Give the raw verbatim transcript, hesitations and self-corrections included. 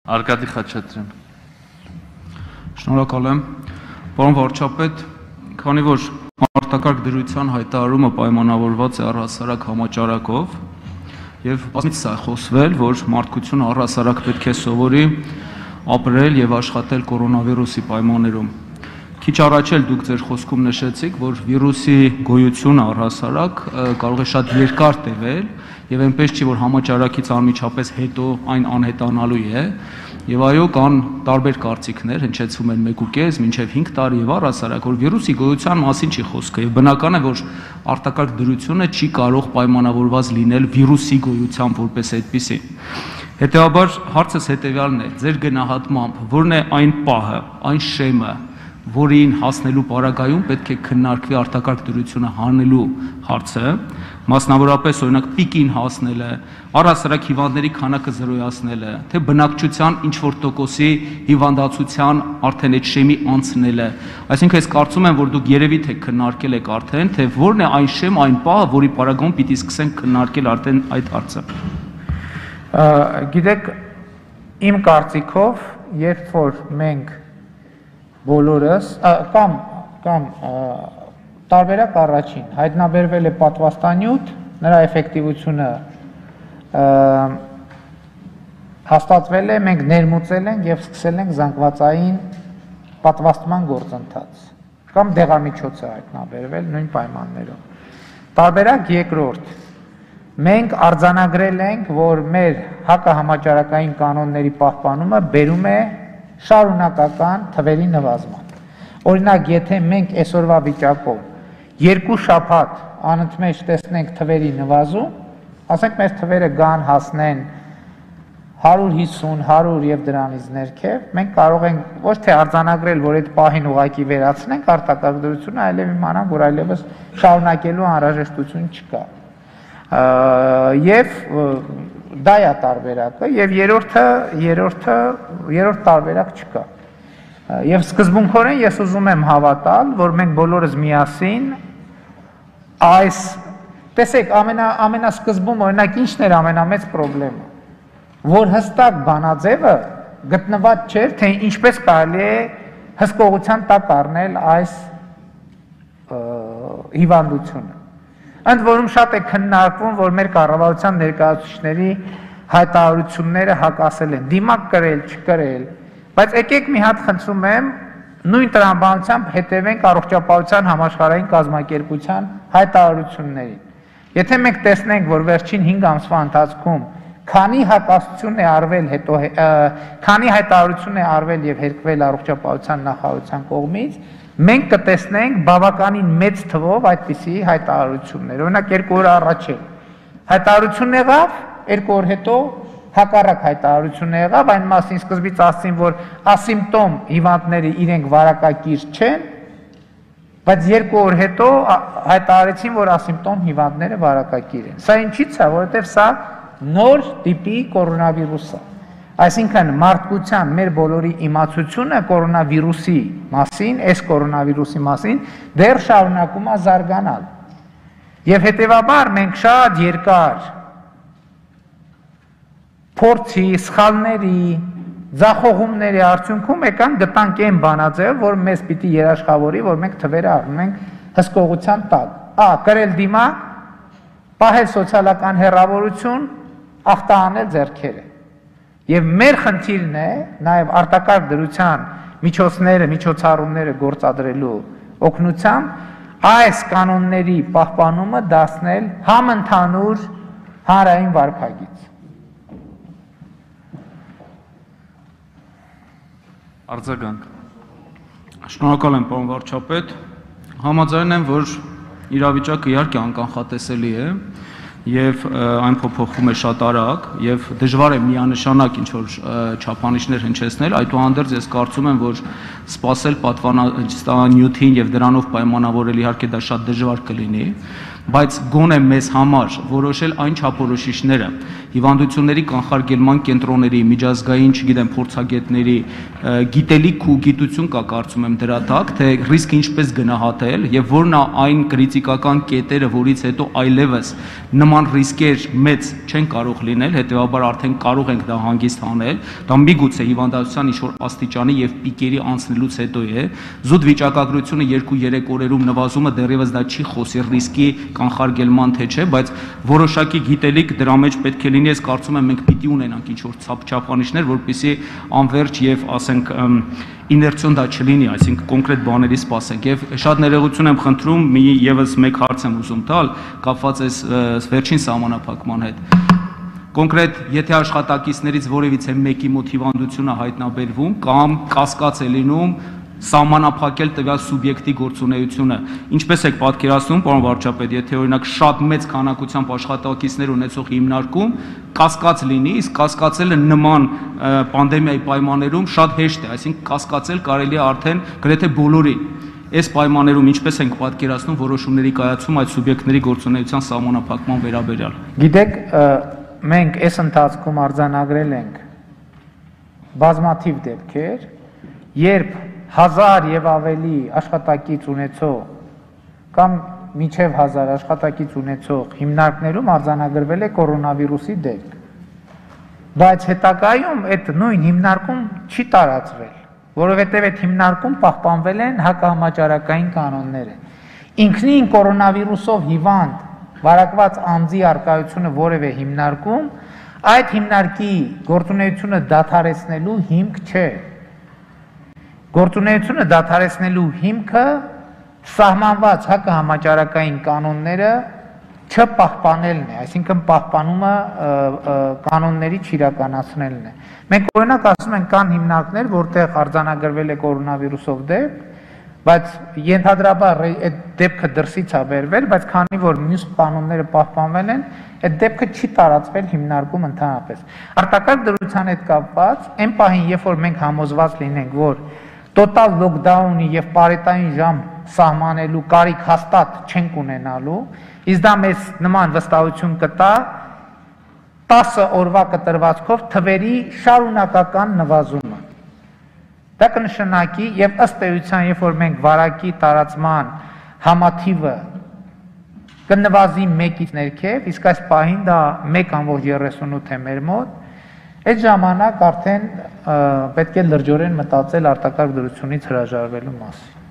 Արկադի Խաչատրյան։ Շնորհակալ եմ, պարոն վարչապետ, քանի որ արտակարգ դրության հայտարարումը պայմանավորված է առհասարակ համաճարակով եւ բազմից է խոսվել, որ մարդկությունը առհասարակ պետք է սովորի ապրել եւ աշխատել կորոնավիրուսի պայմաններում։ Քիչ առաջ էլ դուք ձեր խոսքում նշեցիք, որ վիրուսի գոյությունը առհասարակ կարող է շատ երկար տևել եւ այնպես չի, որ համաճարակից անմիջապես հետո այն անհետանալու է։ Եվ այո, կան տարբեր կարծիքներ, հնչեցում են մեկ ու կես մինչև հինգ տարի եւ առհասարակ, որ վիրուսի գոյության մասին չի խոսքը եւ բնական է, որ արտակարգ դրությունը չի կարող պայմանավորված լինել վիրուսի գոյությամբ որպես այդպիսի։ Հետեւաբար հարցս հետեւյալն է. ձեր գնահատմամբ որն է այն պահը, այն շեմը, որին հասնելու պարագայում պետք է քննարկվի արտակարգ դրությունը հանելու հարցը, մասնավորապես օրինակ պիկին հասնելը, առհասարակ հիվանդների քանակը զրոյացնելը, թե բնակչության ինչ որ տոկոսի հիվանդացության արդեն այդ շեմի անցնելը։ Այսինքն ես կարծում եմ, որ դուք երևի թե քննարկել եք արդեն, թե որն է այն շեմ, այն պահը, որի պարագայում պիտի սկսենք քննարկել արդեն այդ հարցը։ Գիտեք, իմ կարծիքով, երբ որ մենք բոլորս կամ կամ տարբերակ առաջին հայտնաբերվել է պատվաստանյութ, նրա էֆեկտիվությունը հաստատվել է, մենք ներմուծել ենք եւ սկսել ենք զանգվածային պատվաստման գործընթաց կամ դեղամիջոց է հայտնաբերվել նույն պայմաններում։ Տարբերակ երկրորդ, մենք արձանագրել ենք, որ մեր հակահամաճարակային կանոնների պահպանումը բերում է շարունակական թվերի նվազման։ Օրինակ, եթե մենք այսօրվա վիճակով երկու շաբաթ անընդմեջ տեսնենք թվերի նվազում, ասենք մեր թվերը գան հասնեն հարյուր հիսուն, հարյուր եւ դրանից ներքև, մենք կարող ենք ոչ թե արձանագրել, որ այդ պահին ուղղակի վերացնենք արտակարգ դրությունը, այլև իմանանք, որ այլևս շարունակելու անհրաժեշտություն չկա։ Եվ դա է տարբերակը եւ երրորդը երրորդը երրորդ տարբերակ չկա։ Եվ սկզբունքորեն ես ուզում եմ հավատալ, որ մենք բոլորս միասին այս տեսեք ամենա ամենասկզբում օրինակ ինչն էր ամենամեծ խնդրեմը, որ հստակ բանաձևը գտնված չէր, թե ինչպես կարելի է հսկողության տակ առնել այս հիվանդությունը։ Ընդ որում շատ է քննարկվում, որ մեր կառավարության ներկայացուցիչների հայտարարությունները հակասել են, դիմակ կրել, չկրել, բայց եկեք մի հատ խնդրում եմ, նույն տրամաբանությամբ հետևենք առողջապահության համաշխարհային կազմակերպության հայտարարություններին։ Եթե մենք տեսնենք, որ վերջին հինգ ամսվա ընթացքում քանի հակասություն է արվել, հետո քանի հայտարարություն է արվել եւ հերկվել առողջապահության նախարարության կողմից, մենք կտեսնենք բավականին մեծ թվով այդպիսի հայտարարություններ։ Օրինակ երկու օր առաջ է հայտարարություն եղավ, երկու օր հետո հակառակ հայտարարություն եղավ, այն մասին սկզբից ասին, որ ասիմպտոմ հիվանդները իրենք վարակակիր չեն, բայց երկու օր հետո հայտարարեցին, որ ասիմպտոմ հիվանդները վարակակիր են։ Սա ինչի՞ց է, որովհետև սա նոր տիպի կորոնավիրուս է։ Այսինքն մարդկության մեր բոլորի իմացությունը կորոնավիրուսի մասին, այս կորոնավիրուսի մասին դեռ շարունակում է զարգանալ։ Եվ հետևաբար մենք շատ երկար փորձի, սխալների, ձախողումների արդյունքում եկան գտանք այն բանաձև, որ մեզ պիտի երաշխավորի, որ մենք թվերը առնում ենք հսկողության տակ։ Ա, կրել դիմակ, պահել սոցիալական հեռավորություն, ախտահանել ձեռքերը։ Եվ մեր խնդիրն է նաև արտակարգ դրության միջոցները, միջոցառումները գործադրելու օգնությամբ այս կանոնների պահպանումը դարձնել համընդհանուր հանրային վարքագիծ։ Արձագանք։ Շնորհակալ եմ, պարոն վարչապետ։ Համաձայն եմ, որ իրավիճակը իհարկե անկանխատեսելի է եւ այն փոփոխվում է շատ արագ եւ դժվար է միանշանակ ինչ որ չափանիշներ հնչեցնել, այդուհանդերձ ես կարծում եմ, որ սпасել պատվաստանյութին եւ դրանով պայմանավորել իհարկե դա շատ դժվար կլինի բայց գոնե մեզ համար որոշել այն չափորոշիչները հիվանդությունների կանխարգելման կենտրոնների, միջազգային, չգիտեմ, փորձագետների գիտելիք ու գիտություն կա կարծում եմ դրա տակ, թե ռիսկը ինչպես գնահատել եւ որն է այն կրիտիկական կետերը, որից հետո այլևս նման ռիսկեր մեծ չեն կարող լինել, հետեւաբար արդեն կարող ենք դա հանգիստ անել, դա միգուցե հիվանդացության ինչ-որ աստիճանի եւ պիկերի անցնելուց հետո է, զուտ վիճակագրությունը երկու-երեք օրերում նվազումը դեռևս դա չի խոսի ռիսկի կանխարգելման թե չէ, բայց որոշակի գիտելիք դրա մեջ պետք է լինի, ես կարծում եմ մենք պիտի ունենանք ինչ-որ չափանիշներ, որպեսզի անվերջ եւ ասենք իներցիոն դա չլինի, այսինքն կոնկրետ բաների սպասենք եւ շատ ներողություն եմ խնդրում, մի եւս մեկ հարց եմ ուզում տալ, կապված է վերջին սահմանափակման հետ։ Կոնկրետ, եթե աշխատակիցներից որևիցե մեկի մոտ հիվանդությունը հայտնաբերվում կամ կասկած է լինում սահմանափակել տվյալ սուբյեկտի գործունեությունը, ինչպես եք պատկերացնում, պարոն վարչապետ, եթե օրինակ շատ մեծ քանակությամբ աշխատակիցներ ունեցող հիմնարկում կասկած լինի, իսկ կասկածելը նման պանդեմիայի պայմաններում շատ հեշտ է, այսինքն կասկածել կարելի է արդեն գրեթե բոլորին։ Այս պայմաններում ինչպես ենք պատկերացնում որոշումների կայացում այդ սուբյեկտների գործունեության սահմանափակման վերաբերյալ։ Գիտեք, մենք այս ընթացքում արձանագրել ենք բազմաթիվ դեպքեր, երբ հազար եւ ավելի աշխատակից ունեցող կամ միջև հազար աշխատակից ունեցող հիմնարկներում արձանագրվել է կորոնավիրուսի դեպք, բայց հետագայում այդ նույն հիմնարկում չի տարածվել, որովհետև այդ հիմնարկում պահպանվել են հակահամաճարակային կանոնները։ Ինքնին կորոնավիրուսով հիվանդ վարակված անձի արկայությունը որևէ հիմնարկում այդ հիմնարկի գործունեությունը դադարեցնելու հիմք չէ։ Գործունեությունը դադարեցնելու հիմքը սահմանված հակահամաճարակային կանոնները չպահպանելն է, այսինքն պահպանումը կանոնների չիրականացնելն է։ Մենք օրինակ ասում ենք կան հիմնարկներ, որտեղ արձանագրվել է կորոնավիրուսով դեպք, բայց ենթադրաբար այդ դեպքը դրսից է բերվել, բայց քանի որ մյուս կանոնները պահպանվել են, այդ դեպքը չի տարածվել հիմնարկում ընդհանրապես։ Արտակարգ դրության հետ կապված, այն պահին, երբ որ մենք համոզված լինենք, որ տոտալ լոկդաունի եւ պարետային ժամ սահմանելու կարիք հաստատ չենք ունենալու, իսկ դա մեզ նման վստահություն կտա տասը օրվա կտրվածքով թվերի շարունակական նվազումը։ Դա կնշանակի եւ ըստ էության, երբ որ մենք վարակի տարածման համաթիվը կնվազի մեկից ներքև, իսկ այս պահին դա մեկ կամորջ երեսունութ է մեր մոտ, այդ ժամանակ արդեն պետք է լրջորեն մտածել արտակարգ դրությունից հրաժարվելու մասին։